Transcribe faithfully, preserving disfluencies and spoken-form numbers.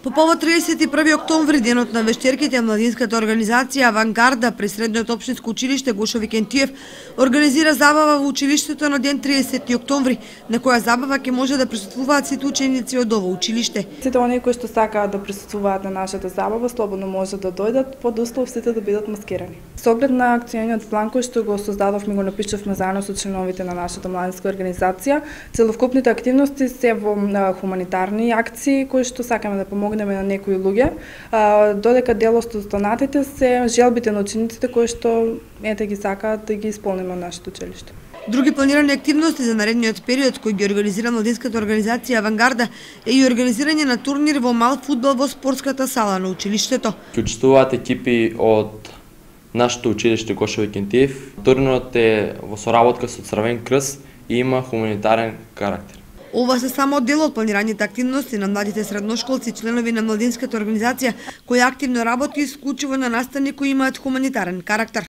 По повод триесет и први октомври, денот на вештерките, младинската организација Авангарда при Средното општинско училиште Гошо Викентиев организира забава во училиштето на ден триесети октомври, на која забава ќе може да присуствуваат сите ученици од ово училиште. Сите оние кои што сакаат да присуствуваат на нашата забава слободно може да дојдат, под услов сите да бидат маскирани. Со оглед на акциониот план кој што го создадовме, го напишавме заедно со членовите на нашата младинска организација, целокупните активности се во хуманитарни акции кои што сакаме да помогнеме на некои луѓе, додека дел од останатите се желбите на учениците кои што ете ги сакаат да ги исполниме од нашето училиште. Други планирани активности за наредниот период кои ги организира младинската организација Авангарда е и организирање на турнир во мал фудбал во спортската сала на училиштето. Учествуваат екипи од нашето училиште Гошо Викентиев. Турнирот е во соработка со Црвен крст и има хуманитарен карактер. Ова се само дел од планираните активности на младите средношколци, членови на младинската организација, која активно работи исклучиво на настани кои имаат хуманитарен карактер.